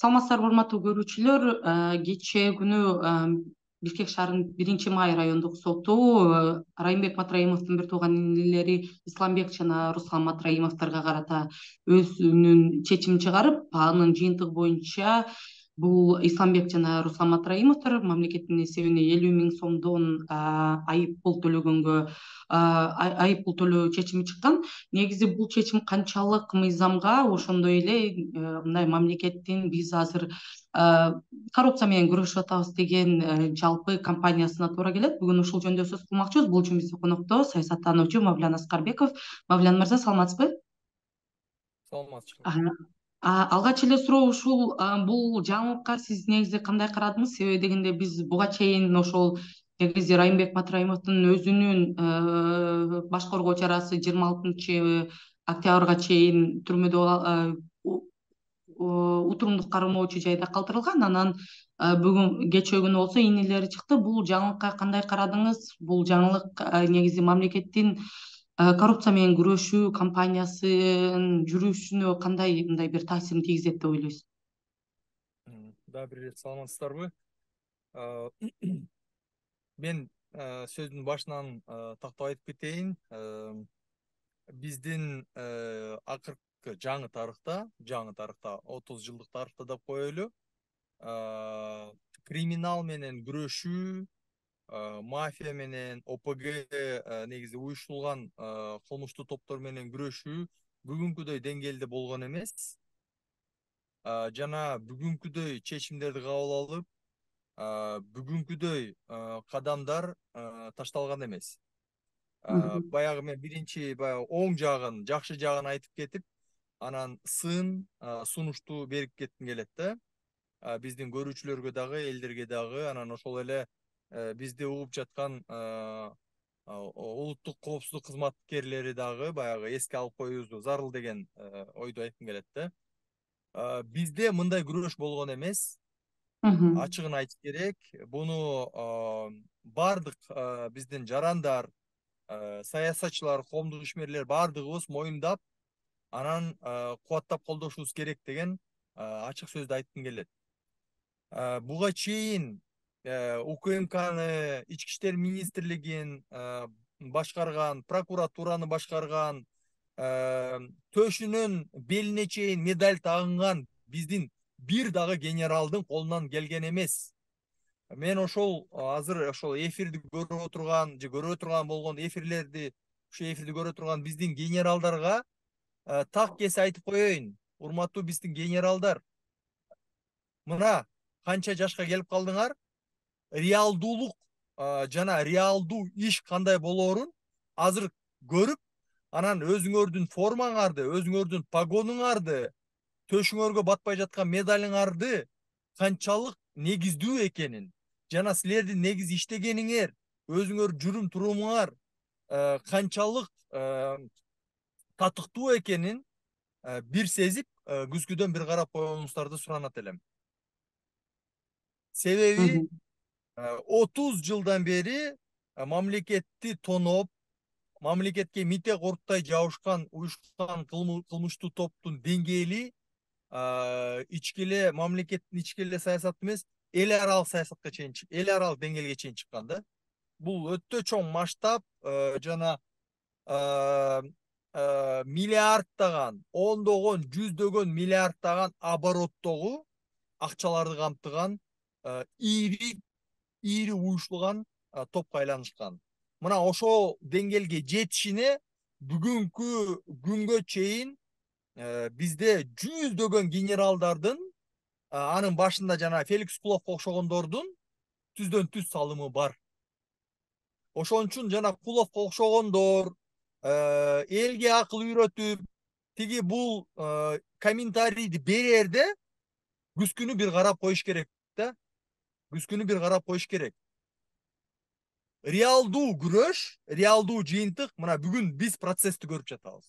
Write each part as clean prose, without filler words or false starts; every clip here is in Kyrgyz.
Саламатсыздарбы урматтуу көрүүчүлөр. Кечээ күнү Бишкек шаарынын 1-Май райондук соту Райымбек Матраимовдун бир тууган инилери Исламбек жана Руслан Матраимовдорго карата өзүнүн чечимин чыгарып, анын жыйынтыгы боюнча бул Исламбек жана Руслан Матраимовдор мамлекеттин эсебине 50.000 сомдон айып пул төлөгөнгө айып пул төлөө чечими чыккан. Негизи бул чечим канчалык мыйзамга, ошондой эле мындай мамлекеттин биз азыр коррупция менен күрөшүп атабыз деген жалпы компаниясына туура келет. Бүгүн ушул жөнүндө сөз кылмакчыбыз. Бул үчүн биздин конокто саясаттануучу Мавлян Аскарбеков. Мавлян мырза, саламатсызбы? Саламатчылык. Алгач эле суроо ушул, бул жаңылыкка сиз негизи кандай карадыңыз? Себеби дегенде биз буга чейин ошол негизи Райымбек Матраимовдун өзүнүн башкаруу чарасы 26-октябрга чейин түрмөдө утурумдук кармоочу жайда калтырылган. Анан бүгүн кечээ күнү болсо инилери чыкты. Бул жаңылыкка кандай карадыңыз? Бул жаңылык негизи мамлекеттин коррупция менен күрөшүү компаниясынын жүрүшүнө кандай мындай бир таасирин тийгизет деп ойлойсуз? Дагы бир ирет саламатсыздарбы? Мен сөздүн башынан тактап айтып кетейин. Биздин акыркы жаңы тарыхта 30 жылдык тарыхта деп коелу, криминал менен күрөшүү, мафия менен ОПГ негизи уюштурулган кылмыштуу топтор менен күрөшүү бүгүнкүдөй деңгээлде болгон эмес. Жана бүгүнкүдөй чечимдерди кабыл алып, бүгүнкүдөй кадамдар ташталган эмес. Баягы мен биринчи оң жагын, жакшы жагын айтып кетип, анан сунушту берип кетким келет да. Биздин көрүүчүлөргө дагы, элдерге дагы, анан ошол эле бизди угуп жаткан улуттук коопсуздук кызматкерлери дагы баягы эске алып коюубузду зарыл деген ойду айткым келет да. Бизде мындай күрөш болгон эмес. Ачыгын айтыш керек. Буну бардык биздин жарандар, саясатчылар, коомдук ишмерлер бардыгыбыз моюндап, анан кубаттап колдошубуз керек деген ачык сөздү айткым келет. Буга чейин УКМКны, Ички иштер министрлигин башкарган, прокуратураны башкарган, төшүнөн белине чейин медаль тагынган биздин бир дагы генералдын колунан келген эмес. Мен ошол азыр ошол эфирди көрүп отурган же көрө турган болгон эфирлерди, ушу эфирди көрө турган биздин генералдарга так кесе айтып коеюн. Урматтуу биздин генералдар, мына канча жашка келип калдыңар, реалдуулук жана реалдуу иш кандай болоорун азыр көрүп, анан өзүңөрдүн формаңарды, өзүңөрдүн погонуңарды, төшүңөргө батпай жаткан медалыңарды канчалык негиздүү экенин, жана силердин негиз иштегениңер, өзүңөр жүрүм турумуңар канчалык татыктуу экенин бир сезип, күзгүдөн бир карап коюңуңуздарды суранат элем. Себеби 30 жылдан бери мамлекетти тоноп, мамлекетке мите корттай жабышкан уюшкан кылмыштуу топтун деңгээли ички эле мамлекеттин ички эле саясаты эмес, эл аралык саясатка чейин, эл аралык деңгээлге чейин чыккан да. Бул өтө чоң масштаб жана миллиардтаган, ондогон, жүздөгөн миллиардтаган обороттогу акчаларды камтыган ири уюштулган топко айланышкан. Мына ошол деңгээлге жетишине бүгүнкү күнгө чейин бизде жүздөгөн генералдардын, анын башында жана Феликс Куловго окшогондордун түздөн түз салымы бар. Ошон үчүн жана Куловго окшогондор элге акыл үйрөтүп, тиги бул комментарийди берерде күзгүнү бир карап коюш керек да. Күзгүнү бир карап коюш керек. Реалдуу күрөш, реалдуу жыйынтык, мына бүгүн биз процессти көрүп жатабыз.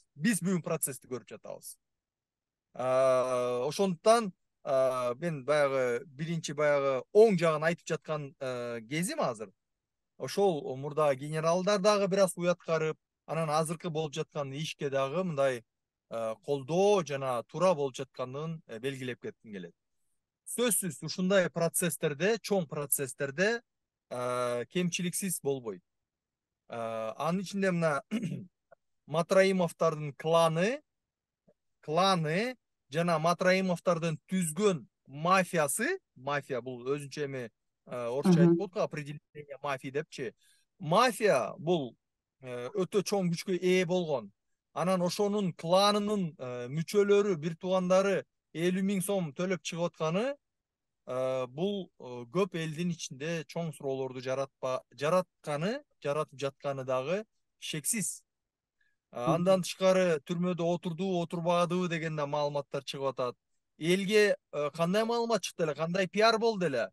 Ошондуктан мен баягы биринчи оң жагын айтып жаткан кезим азыр. Ошол мурдагы генералдар дагы бир аз уяткарып, анан азыркы болуп жаткан ишке дагы мындай колдоо жана туура болуп жатканын белгилеп кетким келет. сөзсүз ушундай процесстерде, чоң процесстерде кемчиликсиз болбойт. Анын ичинде мына Матраимовдордун кланы жана Матраимовдордун түзгөн мафия бул өзүнчө эми орусча айтып коет го, определение мафии депчи. Мафия бул өтө чоң күчкө ээ болгон. Анан ошонун кланынын мүчөлөрү, бир туугандары 50.000 сом төлөп чыгып атканы бул көп элдин ичинде чоң суроолорду жаратып жатканы дагы шексиз. Андан тышкары түрмөдө отурдубу, отурбадыбы деген да маалыматтар чыгып атат. Элге кандай маалымат чыкты эле, кандай пиар болду эле?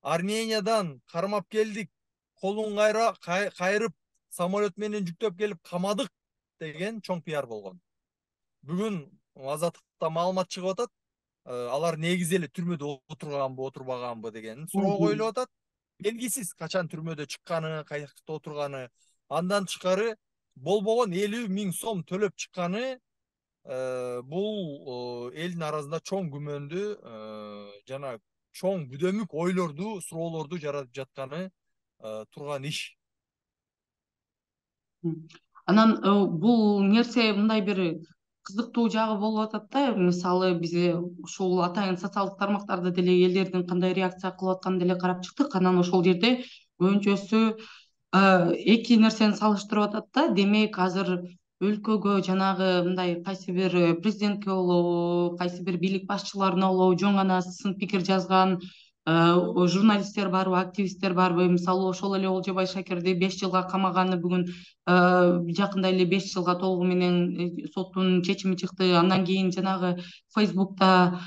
Армениядан кармап келдик, колун кайрып, самолет менен жүктөп келип камадык деген чоң пиар болгон. Бүгүн Азаттыкта маалымат чыгып атат. Алар негизи эле түрмөдө отурганбы, отурбаганбы деген суроо коюлуп атат. Белгисиз качан түрмөдө чыкканы, каякта отурганы. Андан тышкары болбогон 50.000 сом төлөп чыкканы бул элдин арасында чоң күмөндү жана чоң бүдөмүк ойлорду, суроолорду жаратып жатканы турган иш. Анан бул нерсе мындай бир кызыктуу жагы болуп атат да. Мисалы биз ушул атайын социалдык тармактарда деле элдердин кандай реакция кылып атканын деле карап чыктык. Анан ошол жерде көбүнчөсү эки нерсени салыштырып атат да. Демек азыр өлкөгө жанагы мындай кайсы бир президентке болобу, кайсы бир бийлик башчыларына болобу жөн гана сын пикир жазган журналисттер барбы, активисттер барбы? Мисалы ошол эле Олжобай Шакирди 5 жылга камаганы бүгүн жакында эле 5 жылга толугу менен соттун чечими чыкты. Андан кийин жанагы Facebook'та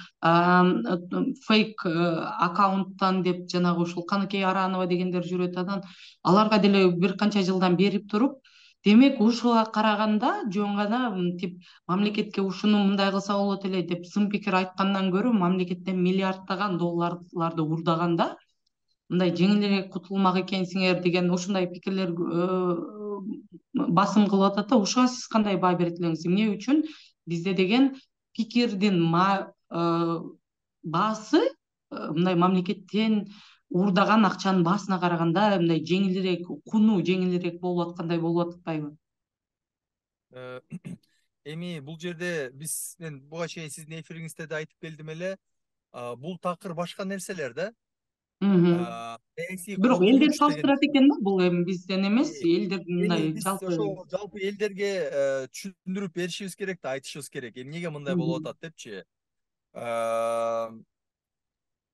фейк аккаунттан деп жанагы ушул Каныкей Аранова дегендер жүрөт. Анан аларга деле бир канча жылдан берип туруп, демек ушуга караганда жөн гана мынтип мамлекетке ушуну мындай кылса болот эле деп сын пикир айткандан көрө мамлекеттен миллиарддаган долларларды урдаганда мындай жеңилирээк кутулмак экенсиңер деген ушундай пикирлер басым кылып атат да. Ушуга сиз кандай баа берет элеңиз? Эмне үчүн бизде деген пикирдин баасы мындай мамлекеттен урдаган акчанын баасына караганда мындай жеңилирээк, куну жеңилирээк болуп аткандай болуп атпайбы? Эми бул жерде мен буга чейин сиздин эфириңизде да айтып келдим эле, бул такыр башка нерселер да. Бирок элдер салыштырат экен да, бул эми бизден эмес, элдердин мындай биз жалпы. ошол жалпы элдерге түшүндүрүп беришибиз керек да, айтышыбыз керек. Эмнеге мындай болуп атат депчи.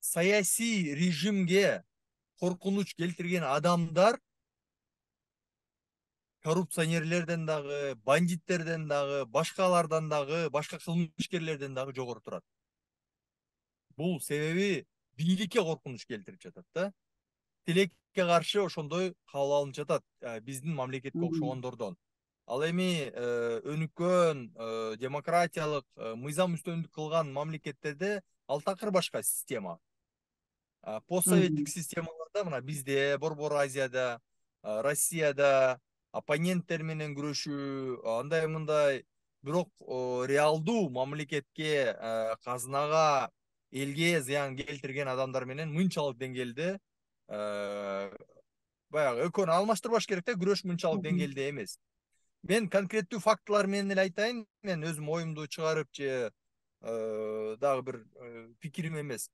Саясий режимге коркунуч келтирген адамдар коррупционерлерден дагы, бандиттерден дагы, башкалардан дагы, башка кылмышкерлерден дагы жогору турат. Бул себеби бийликке коркунуч келтирип жатат да. Тилекке каршы ошондой кабыл алынып жатат биздин мамлекетке окшогондордон. Ал эми өнүккөн демократиялык мыйзам үстөмдүк кылган мамлекеттерде ал такыр башка система. Постсоветтик системаларда мына бизде, Борбор Азияда, Россияда оппоненттер менен күрөшүү андай мындай, бирок реалдуу мамлекетке, казынага, элге зыян келтирген адамдар менен мынчалык деңгээлде баягы экөөнү алмаштырбаш керек да, күрөш мынчалык деңгээлде эмес. Мен конкреттүү фактылар менен эле айтайын, мен өзүм оюмду чыгарып же дагы бир пикирим эмес.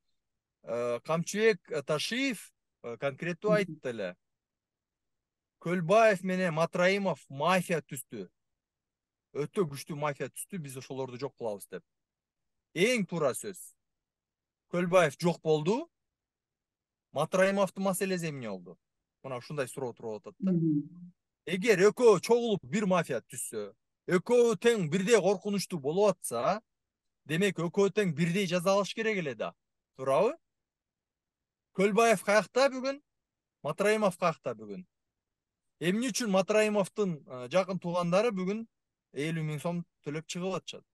Камчыбек Ташиев конкреттүү айтты эле. Көлбаев менен Матраимов мафия түздү. Өтө күчтүү мафия түздү, биз ошолорду жок кылабыз деп. Эң туура сөз. Көлбаев жок болду. Матраимовдун маселеси эмне болду? Мына ушундай суроо туруп атат да. Эгер экөө чогулуп бир мафия түзсө, экөө тең бирдей коркунучтуу болуп атса, демек экөө тең бирдей жазалаш керек эле да. Туурабы? Көлбаев каякта бүгүн? Матраимов каякта бүгүн? Эмне үчүн Матраимовдун жакын туугандары бүгүн 50.000 сом төлөп чыгып атышат?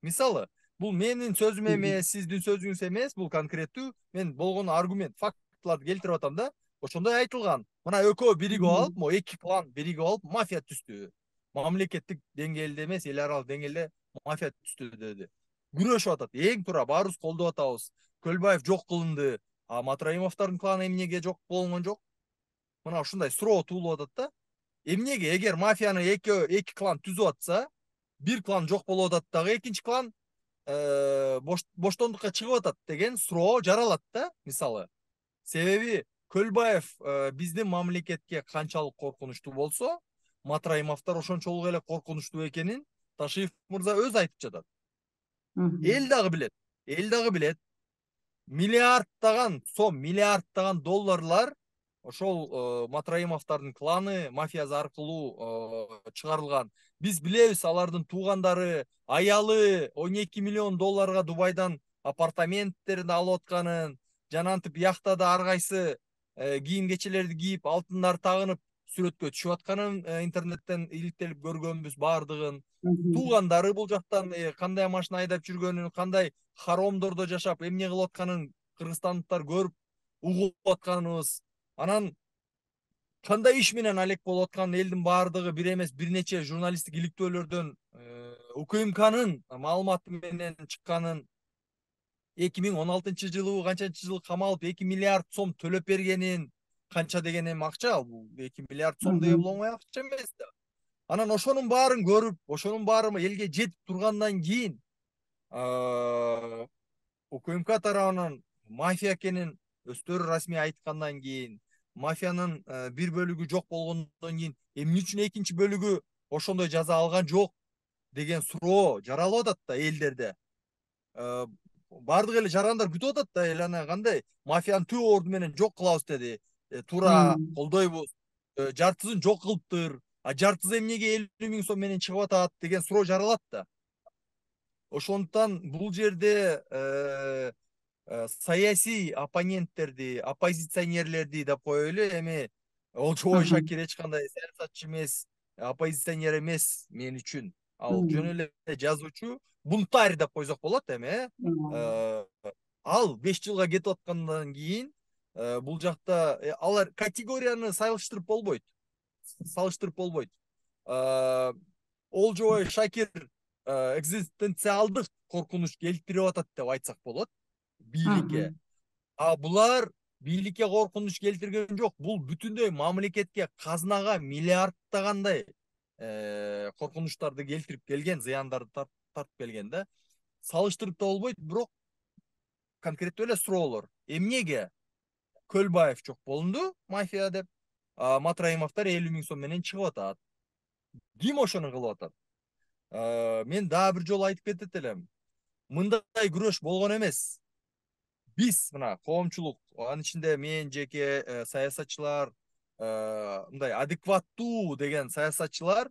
Мисалы, бул менин сөзүм эмес, сиздин сөзүңүз эмес, бул конкреттүү мен болгон аргумент, фактыларды келтирип атам да. Ошондой айтылган. Мына экөө биригип алып, эки клан биригип алып мафия түздү. Мамлекеттик деңгээлде эмес, эл аралык деңгээлде мафия түздү деди. Күрөшүп атат. Эң туура, баарыбыз колдоп атабыз. Көлбаев жок кылынды, а Матраимовдордун кланы эмнеге жок болгон жок? Мына ушундай суроо туулуп атат да. Эмнеге эгер мафияны эки клан түзүп атса, бир клан жок болуп атат дагы экинчи клан боштондукка чыгып атат деген суроо жаралат да, мисалы. Себеби Көлбаев биздин мамлекетке канчалык коркунучтуу болсо, Матраимовдор ошончолук эле коркунучтуу экенин Ташиев мырза өзү айтып жатат. Эл дагы билет. Миллиардтаган сом, миллиардтаган долларлар ошол Матраимовдордун кланы, мафиясы аркылуу чыгарылган. Биз билебиз, алардын туугандары, аялы 12 миллион долларга Дубайдан апартаменттерин алып атканын, жанантип яхтада ар кайсы кийим кечелерди кийип, алтындар тагынып сүрөткө түшүп атканын интернеттен иликтелип көргөнбүз баардыгын. Туугандары бул жактан кандай машина айдап жүргөнүн, кандай хоромдордо жашап, эмне кылып атканын кыргызстандыктар көрүп, угуп атканыбыз. Анан кандай иш менен алек болуп атканын элдин баардыгы бир эмес бир нече журналисттик иликтөөлөрдөн УКМКнын маалыматы менен чыкканын, 2016-жылы канчанчы жылы камалып 2 миллиард сом төлөп бергенин, канча деген эми акча ал, бул 2 миллиард сом деген бул оңой акча эмес да. Анан ошонун баарын көрүп, ошонун баары элге жетип тургандан кийин УКМК тарабынан мафия экенин өздөрү расмий айткандан кийин, мафиянын бир бөлүгү жок болгондон кийин эмне үчүн экинчи бөлүгү ошондой жаза алган жок деген суроо жаралып атат да элдерде. Баардык эле жарандар күтүп атат да, эл ана кандай мафиянын түп орду менен жок кылабыз деди. Туура колдойбуз. Жартысын жок кылыптыр. А жартысы эмнеге 50 миң сом менен чыгып атат деген суроо жаралат да. Ошондуктан бул жерде саясий оппоненттерди, оппозиционерлерди деп коелу, эми Олжобой Шакир эч кандай саясатчы эмес, оппозиционер эмес мен үчүн. Ал жөн эле жазуучу, бунтарь деп койсок болот эми. Ал 5 жылга кетип аткандан кийин бул жакта алар категорияны салыштырып болбойт. Олжобой Шакир экзистенциалдык коркунуч келтирип атат деп айтсак болот бийликке. А булар бийликке коркунуч келтирген жок. Бул бүтүндөй мамлекетке, казынага миллиардтагандай коркунучтарды келтирип келген, зыяндарды тартып келген да. Салыштырып да болбойт, бирок конкреттүү эле суроолор. Эмнеге Көлбаев жок болунду мафия деп, Матраимовдор 50 миң сом менен чыгып атат? Ким ошону кылып атат? Мен дагы бир жолу айтып кетет элем. Мындай күрөш болгон эмес. Биз мына коомчулук, анын ичинде мен жеке саясатчылар, мындай адекваттуу деген саясатчылар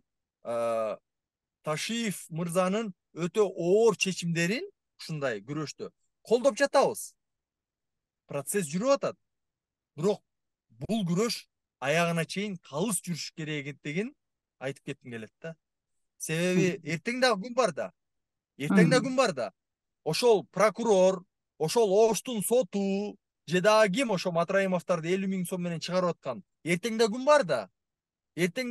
Ташиев мырзанын өтө оор чечимдерин ушундай күрөштө колдоп жатабыз. Процесс жүрүп атат. Бирок бул күрөш аягына чейин калыс жүрүш керектигин айтып кетким келет да. Себеби эртең дагы күн бар да. Ошол прокурор, ошол Оштун соту же дагы ким ошо Матраимовдорду 50 миң сом менен чыгарып аткан? Эртең да күн бар да. Эртең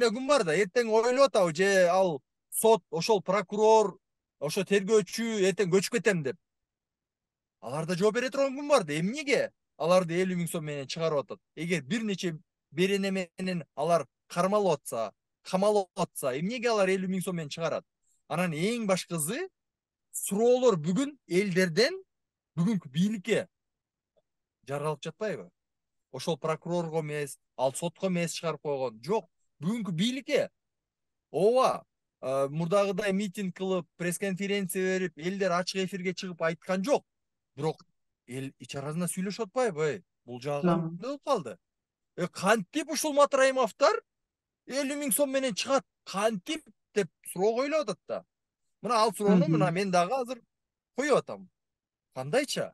ойлоп атабы же ал сот, ошол прокурор, ошо тергөөчү эртең көчүп кетем деп. Аларда жооп бере турган күн бар да. Эмнеге аларды 50 миң сом менен чыгарып атат? Эгер бир нече берене менен алар кармалып атса, эмнеге алар 50 миң сом менен чыгарат? Анан эң башкысы суроолор бүгүн элдерден бүгүнкү бийликке жаралып жатпайбы? Ошол прокурорго эмес, ал сотко эмес чыгарып койгон. Жок, бүгүнкү бийликке. Ооба, мурдагыдай митинг кылып, пресс-конференция берип, элдер ачык эфирге чыгып айткан жок. Бирок эл ич арасында сүйлөшүп атпайбы? Бул жагы кандай болуп калды? Кантип ушул Матраимовдор 50 миң сом менен чыгат? Кантип деп суроо коюлуп атат да. Мына ал суроону мына мен дагы азыр коюп атам. Кандайча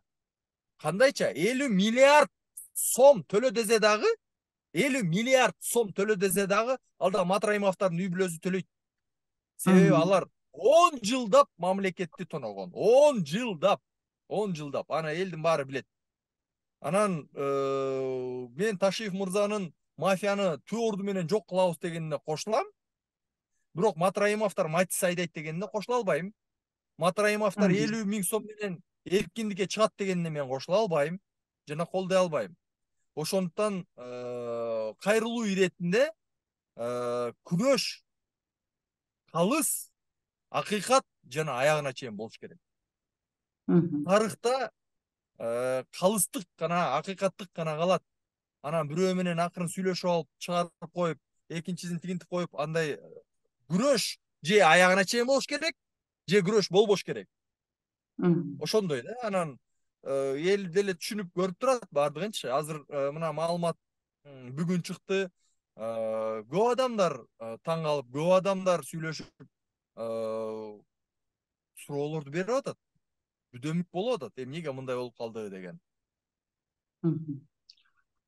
50 миллиард сом төлө десе дагы, 50 миллиард сом төлө десе дагы, ал да Матраимовдордун үй бүлөсү төлөйт. Себеби алар 10 жылдап мамлекетти тоногон. 10 жылдап. Ана элдин баары билет. Анан мен Ташиев мырзанын мафияны түп орду менен жок кылабыз дегенине кошулам. Бирок Матраимовдор матис айдайт дегенине кошула албайм. Матраимовдор 50 миң сом менен эркиндикке чыгат дегенине мен кошула албайм жана колдой албайм. Ошондуктан кайрылуу иретинде күрөш, калыс, акыйкат жана аягына чейин болуш керек. Тарыхта калыстык гана, акыйкаттык гана калат. Анан бирөө менен акырын сүйлөшүп алып, чыгарып коюп, экинчисин тигинтип коюп, андай күрөш же аягына чейин болуш керек, же күрөш болбош керек. Ошондой да. Анан эл деле түшүнүп көрүп турат баардыгынчы. Азыр мына маалымат бүгүн чыкты. Көп адамдар таң калып, көп адамдар сүйлөшүп суроолорду берип атат. Бүдөмүк болуп атат. Эмнеге мындай болуп калды деген.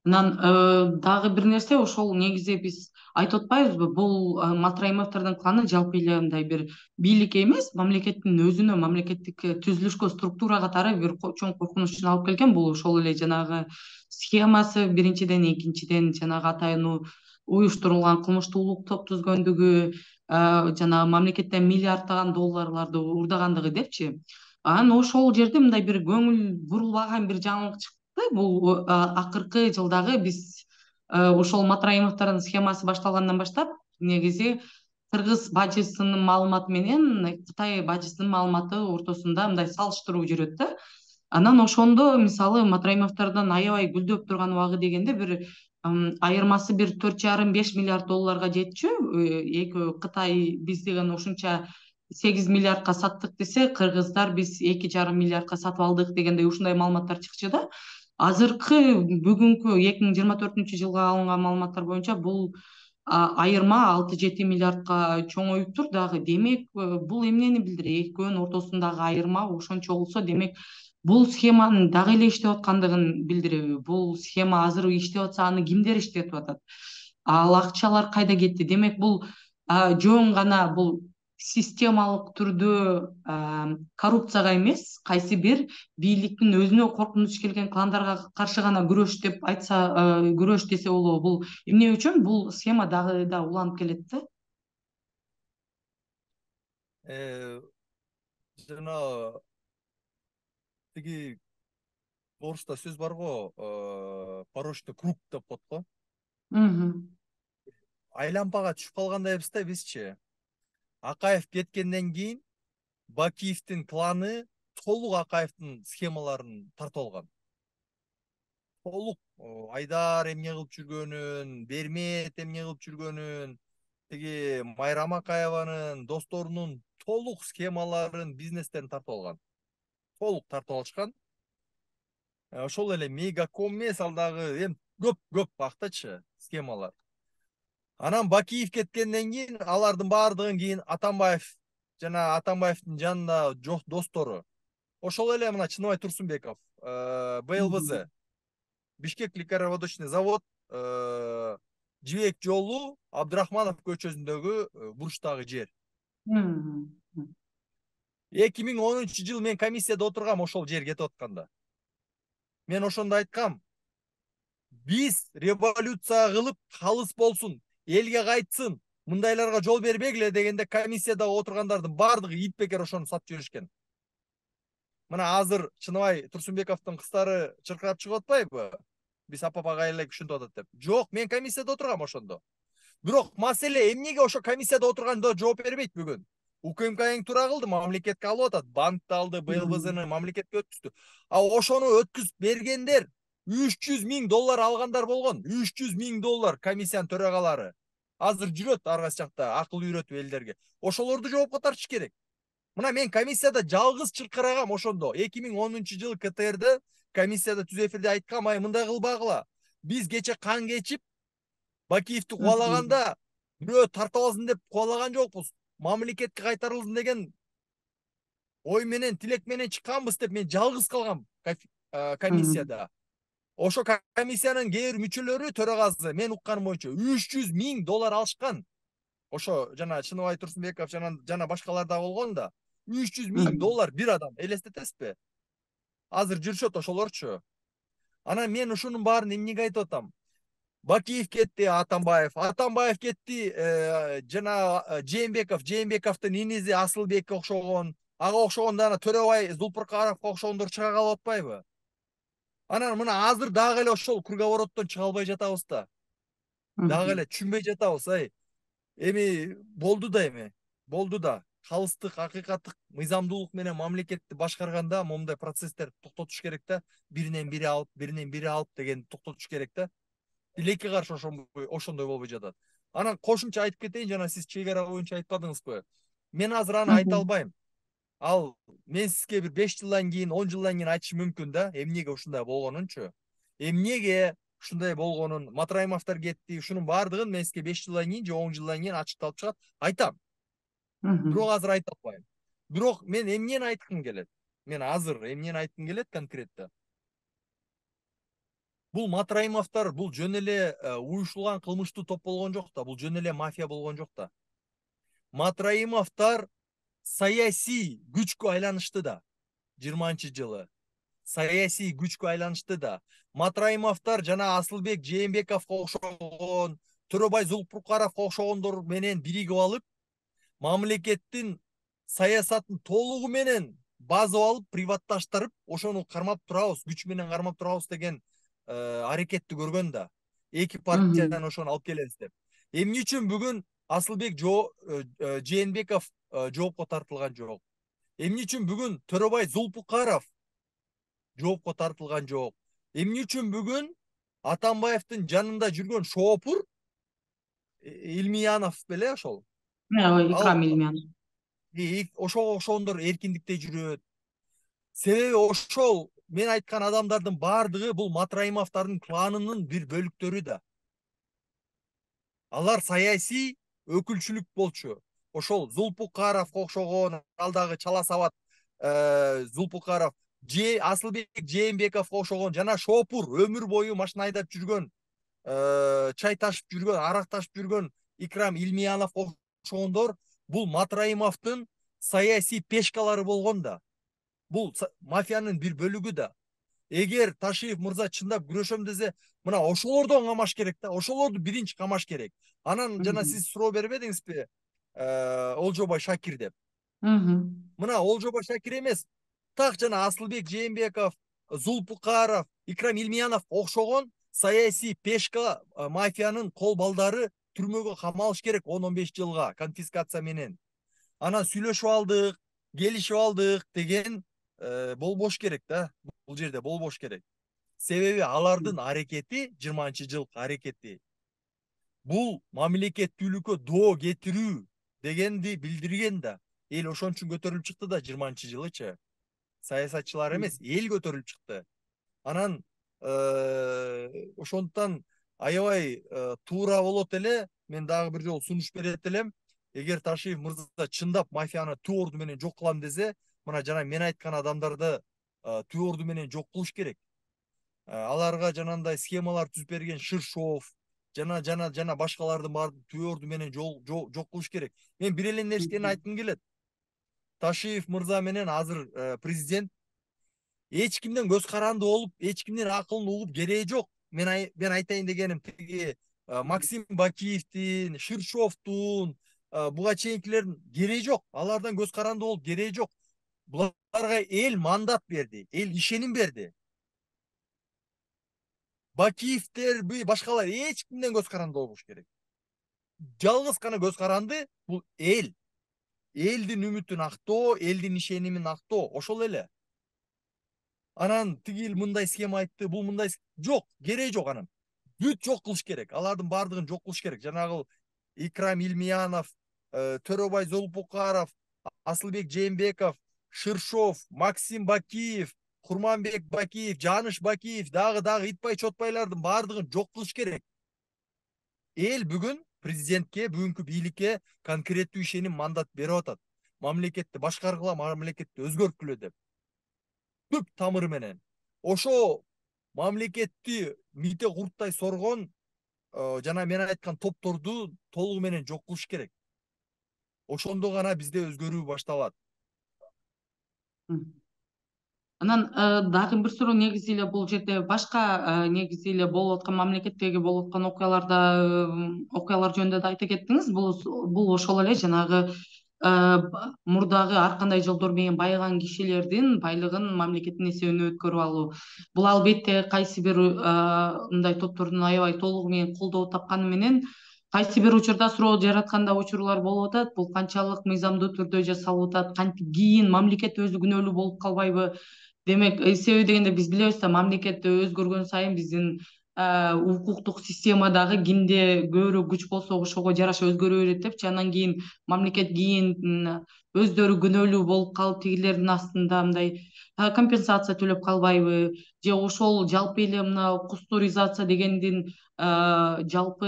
Анан дагы бир нерсе, ошол негизи биз айтып атпайбызбы, бул Матраимовдордун кланы жалпы эле мындай бир бийликке эмес, мамлекеттин өзүнө, мамлекеттик түзүлүшкө, структура катары бир чоң коркунучун алып келген. Бул ошол эле жанагы схемасы биринчиден, экинчиден жанагы атайын уюштурулган кылмыштуулук топ түзгөндүгү, жанагы мамлекеттен миллиарддаган долларларды уурдагандыгы депчи. Анан ошол жерде мындай бир көңүл бурулбаган бир жаңылык чыкты. Бул акыркы жылдагы биз ошол Матраимовдордун схемасы башталгандан баштап негизи кыргыз бажысынын маалыматы менен Кытай бажысынын маалыматы ортосунда мындай салыштыруу жүрөт да. Анан ошондо мисалы Матраимовдордон аябай гүлдөп турган убагы дегенде бир айырмасы бир 4,5-5 миллиард долларга жетчү. Кытай биз деген ушунча 8 миллиардка саттык десе, кыргыздар биз 2,5 миллиардка сатып алдык дегендей ушундай маалыматтар чыкчу да. Азыркы бүгүнкү 2024-жылга алынган маалыматтар боюнча бул айырма 6-7 миллиардка чоңоюптур дагы. Демек, бул эмнени билдирет? Экөөнүн ортосундагы айырма ошончо болсо, демек бул схеманын дагы эле иштеп аткандыгын билдиреби? Бул схема азыр иштеп атса, аны кимдер иштетип атат? Ал акчалар кайда кетти? Демек, бул жөн гана бул системалык түрдө коррупцияга эмес, кайсы бир бийликтин өзүнө коркунуч келген кландарга каршы гана күрөш деп айтса, күрөш десе болобу? Бул эмне үчүн бул схема дагы да уланып келет да? Жана тиги орусча сөз бар го, порочный круг деп коет го. Айлампага түшүп калгандайбыз да бизчи. Акаев кеткенден кийин Бакиевдин кланы толук Акаевдин схемаларын тартып алган. Толук Айдар эмне кылып жүргөнүн, Бермет эмне кылып жүргөнүн, тиги Майрам Акаеванын досторунун толук схемаларын, бизнестерин тартып алган. Толук тартып алышкан. Ошол эле Мегаком эмес, ал дагы эми көп бактачы схемалар. Анан Бакиев кеткенден кийин алардын баардыгын кийин Атамбаев жана Атамбаевдин жанында достору. Ошол эле мына Чыныбай Турсунбеков, БЛВЗ, Бишкек ликароводочный завод, Жибек жолу, Абдрахманов көчөсүндөгү бурчтагы жер. 2010-жыл мен комиссияда отургам ошол жер кетип атканда. Мен ошондо айткам, биз революция кылып калыс болсун, элге кайтсын, мындайларга жол бербегиле дегенде комиссияда отургандардын баардыгы ит бекер ошону сатып жиберишкен. Мына азыр Чыныбай Турсунбековдун кыздары чыркырап чыгып атпайбы? Биз апапага эле күшүнтүп атат деп. Жок, мен комиссияда отургам ошондо. Бирок маселе эмнеге ошо комиссияда отурганда жооп бербейт бүгүн? УКМК туура кылды, мамлекетке алып атат, банкты алды, БЛВЗны мамлекетке өткөздү. А ошону өткүзүп бергендер $300,000 алгандар болгон. $300,000 комиссиянын төрагалары. Азыр жүрөт ар кайсы жакта акыл үйрөтүп элдерге. Ошолорду жоопко тартыш керек. Мына мен комиссияда жалгыз чыркырагам ошондо. 2010-жылы КТРде комиссияда түз эфирде айткам, ай мындай кылбагыла. Биз кече кан кечип Бакиевди кубалаганда бирөө тартып алсын деп кубалаган жокпуз. Мамлекетке кайтарылсын деген ой менен, тилек менен чыкканбыз деп мен жалгыз калгам комиссияда. Ошо комиссиянын кээ бир мүчөлөрү, төрагасы, мен укканым боюнча $300,000 алышкан. Ошо жана Чыныбай Турсунбеков жана башкалар да болгон да. $300,000 бир адам, элестетесизби? Азыр жүрүшөт ошолорчу. Анан мен ушунун баарын эмнеге айтып атам? Бакиев кетти, Атамбаев кетти, жана Жээнбековдун иниси Асылбекке окшогон, ага окшогон дана Төрөбай Зулпуркаровго окшогондор чыга калып атпайбы? Анан мына азыр дагы эле ошол круговороттон чыга албай жатабыз да. Дагы эле түшүнбөй жатабыз. Эми болду да эми. Болду да. Калыстык, акыйкаттык мыйзамдуулук менен мамлекетти башкарганда момундай процесстер токтотуш керек да. Биринен бири алып деген токтотуш керек да. Тилекке каршы ошондой болбой жатат. Анан кошумча айтып кетейин, жана сиз чек ара боюнча айтпадыңызбы? Мен азыр аны айта албайм. Ал мен сизге бир 5 жылдан кийин, 10 жылдан кийин айтышым мүмкүн да, эмнеге ушундай болгонунчу. Эмнеге ушундай болгонун, Матраимовдор кетти, ушунун баардыгын мен сизге 5 жылдан кийин же 10 жылдан кийин ачыкталып чыгат, айтам. Бирок азыр айта албайм. Бирок мен эмнени айткым келет? Мен азыр эмнени айткым келет конкретно? Бул Матраимовдор бул жөн эле уюшулган кылмыштуу топ болгон жок да, бул жөн эле мафия болгон жок да. Матраимовдор саясий күчкө айланышты да. 20-жылы саясий күчкө айланышты да. Матраимовдор жана Асылбек Жээнбековго окшогон, Төрөбай Зулпуркаровго окшогондор менен биригип алып, мамлекеттин саясатын толугу менен базып алып, приватташтырып, ошону кармап турабыз, күч менен кармап турабыз деген аракетти көргөн да. Эки партиядан ошону алып келебиз деп. Эмне үчүн бүгүн Асылбек Жээнбеков жоопко тартылган жок? Эмне үчүн бүгүн Төрөбай Зулпукаров жоопко тартылган жок? Эмне үчүн бүгүн Атамбаевдин жанында жүргөн шоопур Илмиянов беле ошол? Икрам Илмиянов. Ошого окшогондор эркиндикте жүрөт. Себеби ошол мен айткан адамдардын баардыгы бул Матраимовдордун кланынын бир бөлүктөрү да. Алар саясий өкүлчүлүк болчу. Ошол Зулпукаровго окшогон, ал дагы Чала Сабат Зулпукаров, Асылбек Жээнбековго окшогон жана шоопур өмүр бою машина айдап жүргөн, чай ташып жүргөн, арак ташып жүргөн Икрам Илмияновго окшогондор бул Матраимовдун саясий пешкалары болгон да. Бул мафиянын бир бөлүгү да. Эгер Ташиев мырза чындап күрөшөм десе, мына ошолордон камаш керек да, ошолорду биринчи камаш керек. Анан жана сиз суроо бербедиңизби, Олжобай Шакир деп. Мына Олжобай Шакир эмес, так жана Асылбек Жээнбеков, Зулпукаров, Икрам Илмиянов окшогон саясий пешка мафиянын кол балдары түрмөгө камалыш керек 10-15 жылга конфискация менен. Анан сүйлөшүп алдык, келишип алдык деген болбош керек да. Бул жерде болбош керек. Себеби алардын аракети, 20-жылкы аракети бул мамлекеттүүлүккө доо кетирүү дегенди билдирген да. Эл ошон үчүн көтөрүлүп чыкты да 20-жылычы. Саясатчылар эмес, эл көтөрүлүп чыкты. Анан ошондуктан аябай туура болот эле, мен дагы бир жолу сунуш берет элем. Эгер Ташиев мырза чындап мафияны түп орду менен жок кылам десе, мына жана мен айткан адамдарды түп орду менен жок кылыш керек. Аларга жанагындай схемалар түзүп берген Ширшов жана башкалардын баарын түп орду менен жок кылыш керек. Мен бир эле нерсени айткым келет. Ташиев мырза менен азыр президент эч кимден көз каранды болуп, эч кимдин акылын угуп кереги жок. Мен айтайын дегеним тиги Максим Бакиевдин, Ширшовдун, буга чейинкилердин кереги жок. Алардан көз каранды болуп кереги жок. Буларга эл мандат берди, эл ишеним берди. Бакиевдерби, башкалар эч кимден көз каранды болбош керек. Жалгыз гана көз каранды бул эл. Элдин үмүтүн актоо, элдин ишенимин актоо, ошол эле. Анан тигил мындай схема айтты, бул мындай жок, кереги жок анан. Бүт жок кылыш керек. Алардын баардыгын жок кылыш керек. Жанагы Икрам Илмиянов, Төрөбай Зулпукаров, Асылбек Жээнбеков, Ширшов, Максим Бакиев, Курманбек Бакиев, Жаныш Бакиев, дагы итпай чотпайлардын баардыгын жок кылыш керек. Эл бүгүн президентке, бүгүнкү бийликке конкреттүү ишеним мандат берип атат. Мамлекетти башкаргыла, мамлекетти өзгөрткүлө деп. Түп тамыры менен. Ошо мамлекетти мите курттай соргон жана мен айткан топторду толугу менен жок кылыш керек. Ошондо гана бизде өзгөрүү башталат. Анан дагы бир суроо, негизи эле бул жерде башка негизи эле болуп аткан мамлекеттеги болуп аткан окуялар жөнүндө да айта кеттиңиз. Бул ошол эле жанагы мурдагы ар кандай жолдор менен байыган кишилердин байлыгын мамлекеттин эсебине өткөрүп алуу. Бул албетте кайсы бир мындай топтордун аябай толугу менен колдоо тапканы менен кайсы бир учурда суроо жараткан да учурлар болуп атат. Бул канчалык мыйзамдуу түрдө жасалып атат, кантип кийин мамлекет өзү күнөөлүү болуп калбайбы? Демек, себеби дегенде биз билебиз да, мамлекет өзгөргөн сайын биздин укуктук система дагы кимде көбүрөөк күч болсо ошого жараша өзгөрө берет депчи. Анан кийин мамлекет өздөрү күнөөлүү болуп калып, тигилердин астында мындай компенсация төлөп калбайбы? Же ошол жалпы эле мына кустуризация дегендин жалпы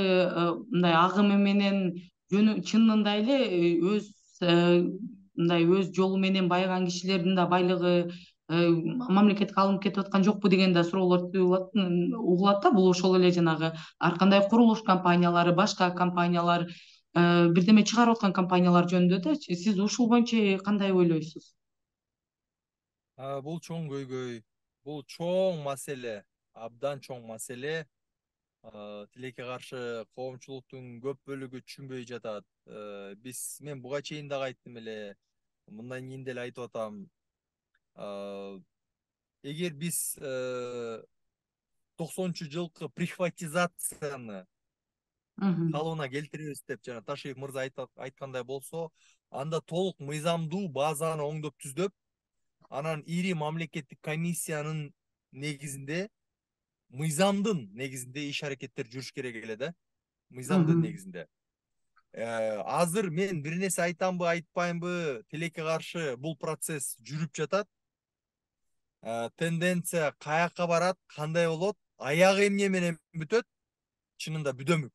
мындай агымы менен чынында эле өз мындай өз жолу менен байыган кишилердин да байлыгы мамлекетке алынып кетип аткан жокпу деген да суроолор угулат да. Бул ошол эле жанагы ар кандай курулуш компаниялары, башка компаниялар, бирдеме чыгарып аткан компаниялар жөнүндө да. Сиз ушул боюнча кандай ойлойсуз? Бул чоң көйгөй, бул чоң маселе, абдан чоң маселе. Тилекке каршы коомчулуктун көп бөлүгү түшүнбөй жатат. Мен буга чейин дагы айттым эле, мындан кийин деле айтып атам. Эгер биз 90-жылкы прихватизацияны калыбына келтиребиз деп жана Ташиев мырза айткандай болсо, анда толук мыйзамдуу базаны оңдоп түздөп, анан ири мамлекеттик комиссиянын негизинде, мыйзамдын негизинде иш аракеттер жүрүш керек эле да. Мыйзамдын негизинде. Азыр мен бир нерсе айтамбы, айтпаймбы, тилекке каршы бул процесс жүрүп жатат. Тенденция каяка барат, кандай болот, аягы эмне менен бүтөт? Чынында бүдөмүк.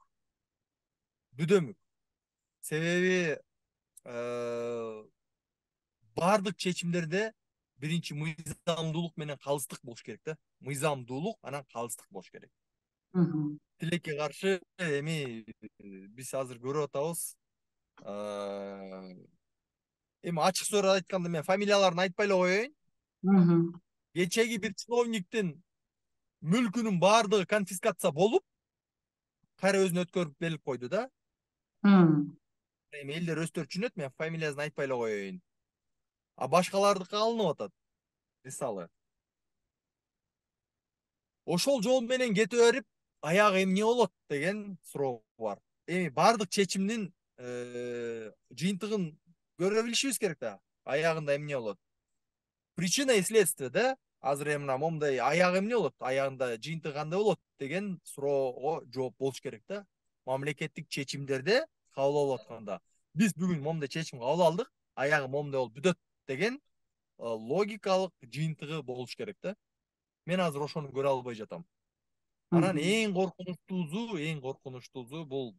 Себеби бардык чечимдерде биринчи мыйзамдуулук менен калыстык болуш керек да. Мыйзамдуулук анан калыстык болуш керек. Тилекке каршы эми биз азыр көрүп атабыз. Эми ачык суроо айтканда мен фамилияларын айтпай эле коеюн. Кечеги бир чиновниктин мүлкүнүн баардыгы конфискация болуп, кайра өзүнө өткөрүп берилип койду да. Эми элдер өздөрү түшүнөт, мен фамилиясын айтпай эле коеюн. Башкалардыкы алынып атат. Мисалы. Ошол жол менен кете берип, аягы эмне болот деген суроо бар. Эми бардык чечимдин жыйынтыгын көрө билишибиз керек да. Аягында эмне болот? Причина и следствие да. Азыр эми мына момундай аягы эмне болот? Аягында жыйынтыгы кандай болот деген суроого жооп болуш керек да. Мамлекеттик чечимдерде кабыл алып атканда биз бүгүн момундай чечим кабыл алдык, аягы момундай болуп бүтөт деген логикалык жыйынтыгы болуш керек да. Мен азыр ошону көрө албай жатам. Анан эң коркунучтуусу бул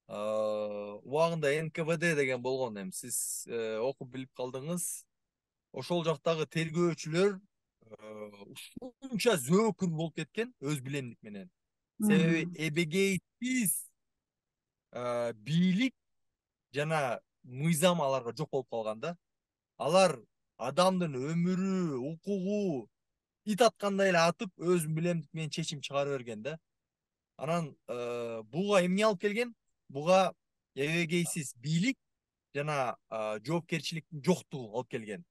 убагында НКВД деген болгон, эми сиз окуп билип калдыңыз. Ошол жактагы тергөөчүлөр ушунча зөөкүр болуп кеткен өз билемдик менен. Себеби эбегейсиз бийлик жана мыйзам аларга жок болуп калган да. Алар адамдын өмүрү, укугу ит аткандай эле атып, өзүнүн билемдик менен чечим чыгара берген да. Анан буга эмне алып келген? Буга эбегейсиз бийлик жана жоопкерчиликтин жоктугу алып келген.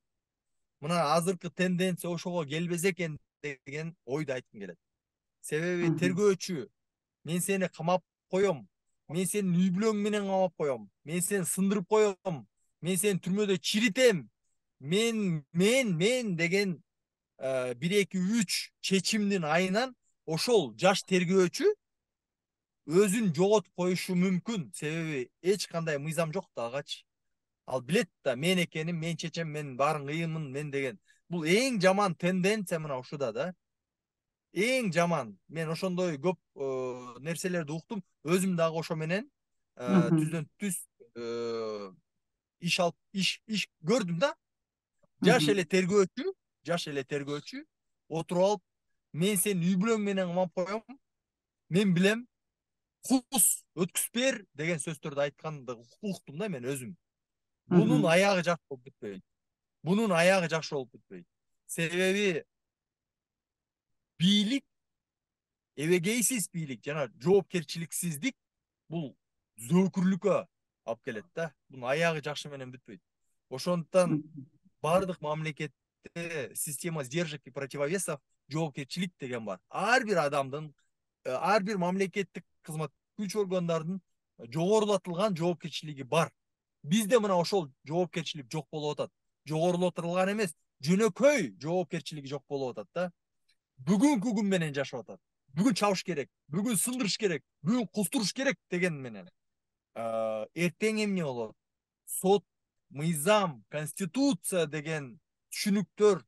Мына азыркы тенденция ошого келбесе экен деген ойду айткым келет. Себеби тергөөчү, мен сени камап коем, мен сенин үй бүлөң менен камап коем, мен сени сындырып коем, мен сени түрмөдө чиритем, мен деген 1-2-3 чечимдин айынан ошол жаш тергөөчү өзүн жоготуп коюшу мүмкүн. Себеби эч кандай мыйзам жок да агачы. Ал билет да мен экеним, мен чечем, мен баарын кыйынмын, мен деген. Бул эң жаман тенденция мына ушуда да. Эң жаман. Мен ошондой көп нерселерди уктум. Өзүм дагы ошо менен түздөн түз иш көрдүм да. Жаш эле тергөөчү отуруп алып, мен сени үй бүлөң менен камап коем, мен билем, кус өткүзүп бер деген сөздөрдү айтканды уктум да мен өзүм. Бунун аягы жакшы болуп бүтпөйт. Себеби бийлик, эбегейсиз бийлик жана жоопкерчиликсиздик бул зөөкүрлүккө алып келет да. Бунун аягы жакшы менен бүтпөйт. Ошондуктан бардык мамлекетте система сдержек и противовесов, жоопкерчилик деген бар. Ар бир адамдын, ар бир мамлекеттик кызмат күч органдардын жогорулатылган жоопкерчилиги бар. Бизде мына ошол жоопкерчилик жок болуп атат. Жогорулатылган эмес, жөнөкөй жоопкерчилиги жок болуп атат да. Бүгүнкү күн менен жашап атат. Бүгүн чабыш керек, бүгүн сындырыш керек, бүгүн кустуруш керек деген менен. Эртең эмне болот? Сот, мыйзам, конституция деген түшүнүктөр,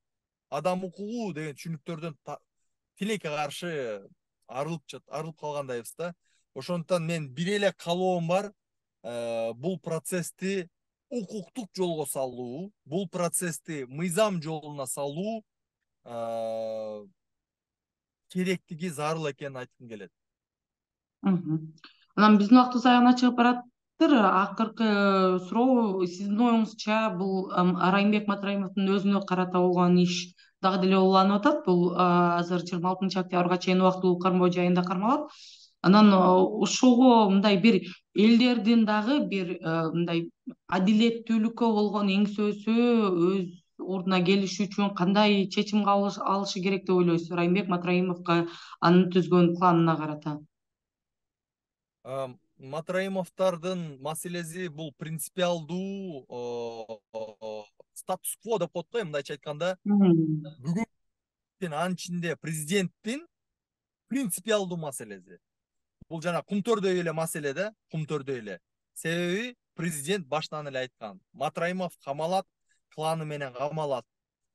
адам укугу деген түшүнүктөрдөн тилекке каршы арылып калгандайбыз да. Ошондуктан мен бир эле каалоом бар, бул процессти укуктук жолго салуу, бул процессти мыйзам жолуна салуу керектиги зарыл экенин айткым келет. Анан биздин убактыбыз аягына чыгып баратыр. Акыркы суроо, сиздин оюңузча бул Райымбек Матраимовдун өзүнө карата болгон иш дагы деле уланып атат. Бул азыр 26-октябрга чейин убактылуу кармоо жайында кармалат. Анан ошого мындай бир элдердин дагы бир мындай адилеттүүлүккө болгон эңсөөсү өз ордуна келиши үчүн кандай чечим алышы керек деп ойлойсуз Райымбек Матраимовго, анын түзгөн кланына карата? Матраимовдордун маселеси бул принципиалдуу статус-кво деп коет го, мындайча айтканда. Бүгүн анын ичинде президенттин принципиалдуу маселеси. Бул жана кумтөрдөй эле маселе да, кумтөрдөй эле. Себеби президент баштан эле айткан, Матраимов камалат, кланы менен камалат.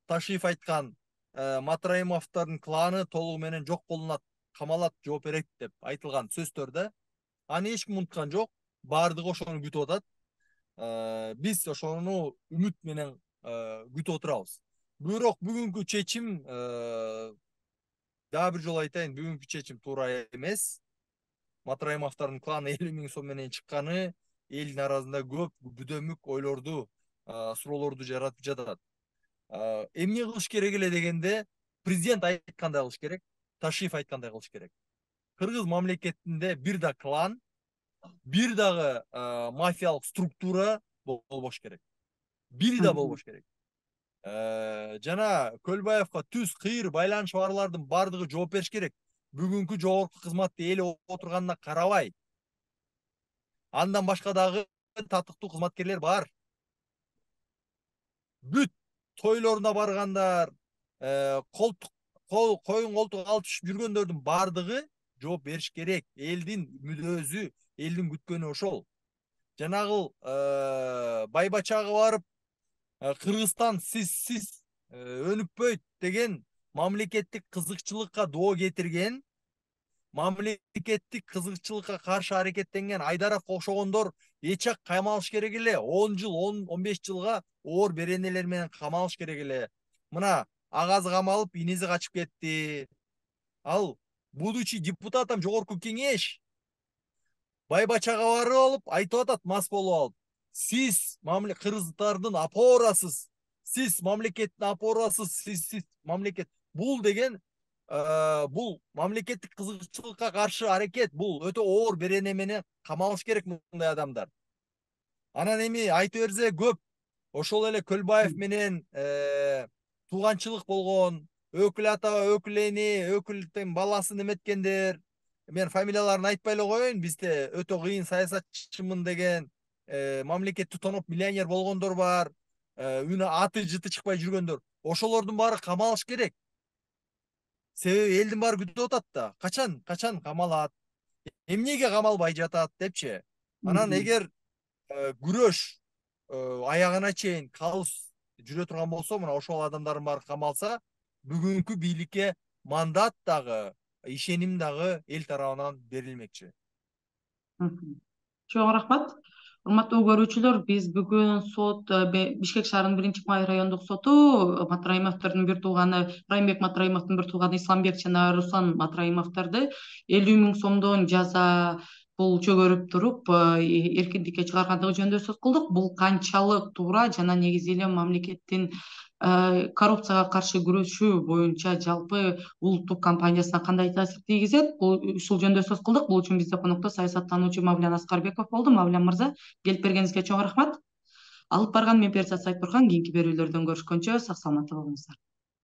Ташиев айткан, Матраимовдордун кланы толугу менен жок болунат, камалат, жооп берет деп айтылган сөздөр да. Аны эч ким унуткан жок, баардыгы ошону күтүп атат. Биз ошону үмүт менен күтүп отурабыз. Бирок бүгүнкү чечим, дагы бир жолу айтайын, бүгүнкү чечим туура эмес. Матраимовдордун кланы 50 000 сом менен чыкканы элдин арасында көп бүдөмүк ойлорду, суроолорду жаратып жатат. Эмне кылыш керек эле дегенде, президент айткандай кылыш керек, Ташиев айткандай кылыш керек. Кыргыз мамлекетинде бир да клан, бир дагы мафиялык структура болбош керек. Бири да болбош керек. Жана Көлбаевга түз кыйыр байланышы барлардын бардыгы жооп бериш керек. Бүгүнкү жогорку кызматты эл отурганына карабай. Андан башка дагы татыктуу кызматкерлер бар. Бүт тойлоруна баргандар, коюн колтук алып жүргөндөрдүн бардыгы жооп бериш керек. Элдин мүдөөсү, элдин күткөнү ошол. Жанагыл Байбачага барып, Кыргызстан сиз өнүкпөйт деген мамлекеттик кызыкчылыкка доо кетирген, мамлекеттик кызыкчылыкка каршы аракеттенген Айдаровго окшогондор эчак камалыш керек эле. 10 жыл, 15 жылга оор беренелер менен камалыш керек эле. Мына агазы камалып, инеси качып кетти. Ал будучи депутатам жогорку кеңеш Байбачага барып алып айтып атат, мас болуп алып. Сиз кыргыздардын опорасыз, сиз мамлекеттин опорасыз, сиз мамлекет. Бул деген бул мамлекеттик кызыкчылыкка каршы аракет, бул өтө оор берене менен камалыш керек мындай адамдар. Анан эми айта берсе көп, ошол эле Көлбаев менен тууганчылык болгон, өкүл ата, өкүл эне, өкүлдүн баласын эметкендер. Мен фамилияларын айтпай эле коеюн, бизде өтө кыйын саясатчымын деген, мамлекетти тоноп миллионер болгондор бар, үн аты жыты чыкпай жүргөндөр. Ошолордун баары камалыш керек. Себеби элдин баары күтүп атат да, качан камалат, эмнеге камалбай жатат депчи. Анан эгер күрөш аягына чейин калыс жүрө турган болсо, мына ошол адамдардын баары камалса, бүгүнкү бийликке мандат дагы, ишеним дагы эл тарабынан берилмекчи. Чоң рахмат. Урматтуу көрүүчүлөр, биз бүгүн сот Бишкек шаарынын 1-май райондук соту Матраимовдордун бир тууганы, Райымбек Матраимовдун бир тууганы Исламбек жана Руслан Матраимовдорду 50 000 сомдон жаза бул чөгөрүп туруп эркиндикке чыгаргандыгы жөнүндө сөз кылдык. Бул канчалык туура жана негизи эле мамлекеттин коррупцияга каршы күрөшүү боюнча жалпы улуттук кампаниясына кандай таасир тийгизет, ушул жөнүндө сөз кылдык. Бул үчүн бизде конокто саясаттануучу Мавлян Аскарбеков болду. Мавлян мырза, келип бергениңизге чоң рахмат. Алып барган мен Перизат Сайтбурхан. Кийинки берүүлөрдөн көрүшкөнчө сак саламатта болуңуздар.